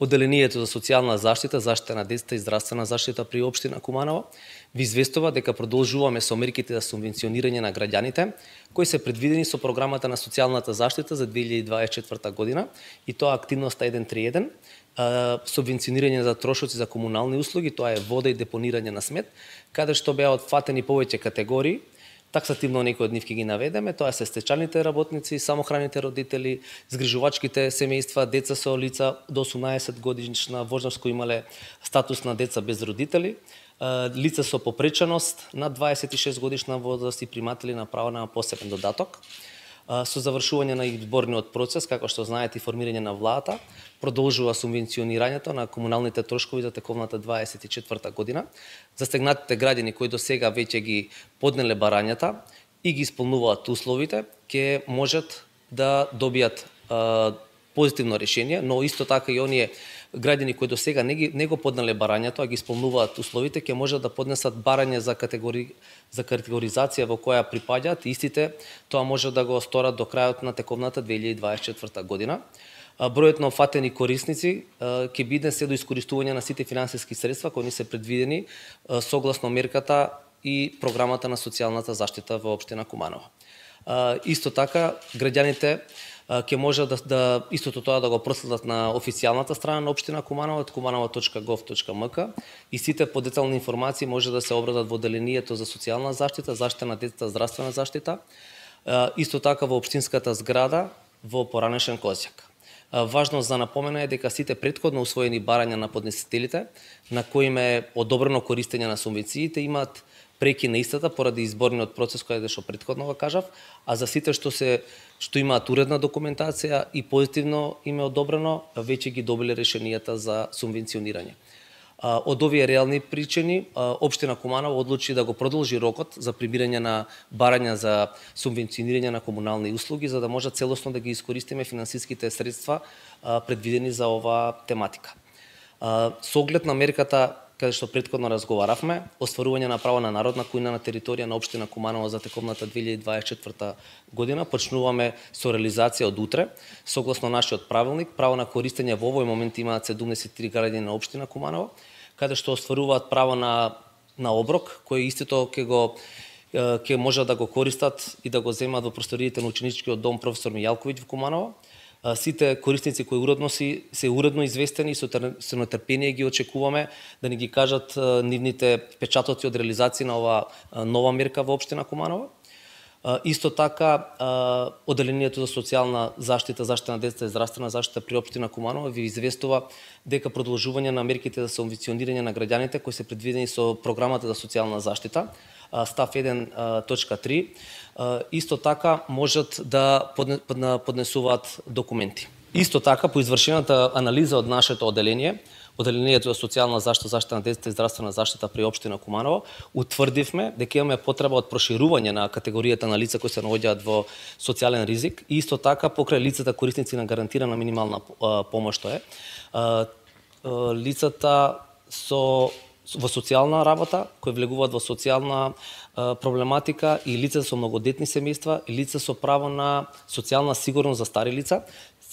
Одделението за социјална заштита, заштита на децата и здравствена заштита при општина Куманово ви известува дека продолжуваме со мерките за субвенционирање на граѓаните кои се предвидени со програмата на социјалната заштита за 2024 година и тоа активноста 131, субвенционирање за трошоци за комунални услуги, тоа е вода и депонирање на смет, каде што беа отфатени повеќе категории. Таксативно некои од нив ќе ги наведеме, тоа се стечајните работници, самохраните родители, згрижувачките семејства, деца со лица до 18 годишна возраст кои имале статус на деца без родители, лица со попреченост над 26 годишна возраст и приматели на право на посебен додаток. Со завршување на изборниот процес, како што знаете, и формирање на владата, продолжува субвенционирањето на комуналните трошкови за тековната 24 година. Застегнатите граѓани кои до сега веќе ги поднеле барањата и ги исполнуваат условите, ќе можат да добијат позитивно решение, но исто така и оние граѓани кои до сега не го поднеле барањето, а ги исполнуваат условите, ќе можат да поднесат барање за категоризација во која припаѓаат, истите тоа може да го сторат до крајот на тековната 2024 година. Бројот на офатени корисници ќе биде се до искористување на сите финансиски средства кои ни се предвидени согласно мерката и програмата на социјалната заштита во општина Куманово. Исто така, граѓаните ќе може да истото тоа да го проследат на официјалната страна на општина Куманово, kumanovo.gov.mk, и сите подетални информации може да се обрадат во одделението за социјална заштита, заштита на децата, здравствена заштита, исто така во општинската зграда во поранешен Козјак. Важно за напомена е дека сите претходно усвоени барања на поднесителите, на кои им е одобрено користење на субвенциите, имаат преки на истата поради изборниот процес кој што претходно го кажав, а за сите што имаат уредна документација и позитивно им е одобрено, веќе ги добиле решенијата за субвенционирање. Од овие реални причини, општина Куманово одлучи да го продолжи рокот за прибирање на барања за субвенционирање на комунални услуги, за да може целосно да ги искористиме финансиските средства предвидени за оваа тематика. Со оглед на мерката каде што претходно разговаравме, остварување на право на народна кујна на територија на општина Куманово за тековната 2024 година, почнуваме со реализација од утре. Согласно нашиот правилник, право на користење во овој момент имаат 73 граѓани на општина Куманово, каде што остваруваат право на оброк, кој истото ќе можат да го користат и да го земат во просториите на ученичкиот дом професор Мијалковиќ во Куманово. Сите корисници кои се уредно известени и со нетрпение ги очекуваме да ни ги кажат нивните печатоци од реализација на оваа нова мерка во општина Куманово. Исто така, одделението за социјална заштита, заштита на децата и здравствена заштита при општина Куманово ви известува дека продолжување на мерките за субвенционирање на граѓаните кои се предвидени со програмата за социјална заштита, став 1.3, исто така можат да поднесуваат документи. Исто така, по извршената анализа од нашето одделение, Одделението за социјална заштита, заштита на децата и здравствена заштита при општина Куманово, утврдивме дека имаме потреба од проширување на категоријата на лица кои се наоѓаат во социјален ризик и исто така покрај лицата корисници на гарантирана минимална помош, тоа е лицата во социјална работа, кои влегуваат во социјална проблематика и лица со многодетни семејства и лица со право на социјална сигурност за стари лица,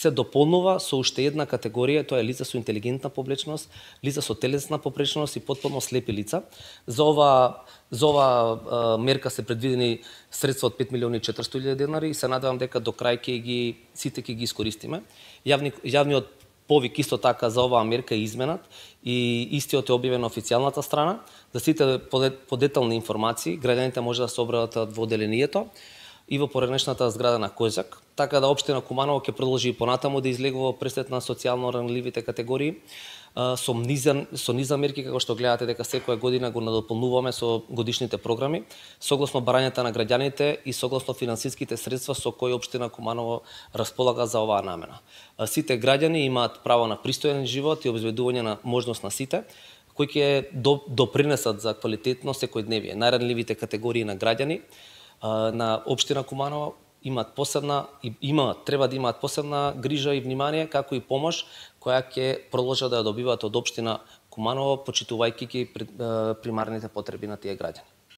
се дополнува со уште една категорија, тоа е лица со интелигентна поблечност, лица со телесна попречност и потполно слепи лица. За ова мерка се предвидени средства од 5.400.000 денари и се надевам дека до крај сите ќе ги искористиме. Јавниот повик исто така за оваа мерка е изменат и истиот е објавен на официјалната страна. За сите подетални информации граѓаните може да се обратат во одделението и во поранешната зграда на Козјак, така да општина Куманово ќе продолжи и понатаму да излегува пресет на социјално ранливите категории со низа мерки, како што гледате дека секоја година го надополнуваме со годишните програми, согласно барањата на граѓаните и согласно финансиските средства со кои општина Куманово располага за оваа намена. Сите граѓани имаат право на пристоен живот и обезбедување на можност на сите, кои ќе допринесат за квалитетно секојдневие. Најранливите категории на граѓани на општина Куманово треба да имаат посебна грижа и внимание, како и помош која ќе продолжат да ја добиваат од општина Куманово, почитувајќи ги примарните потреби на тие граѓани.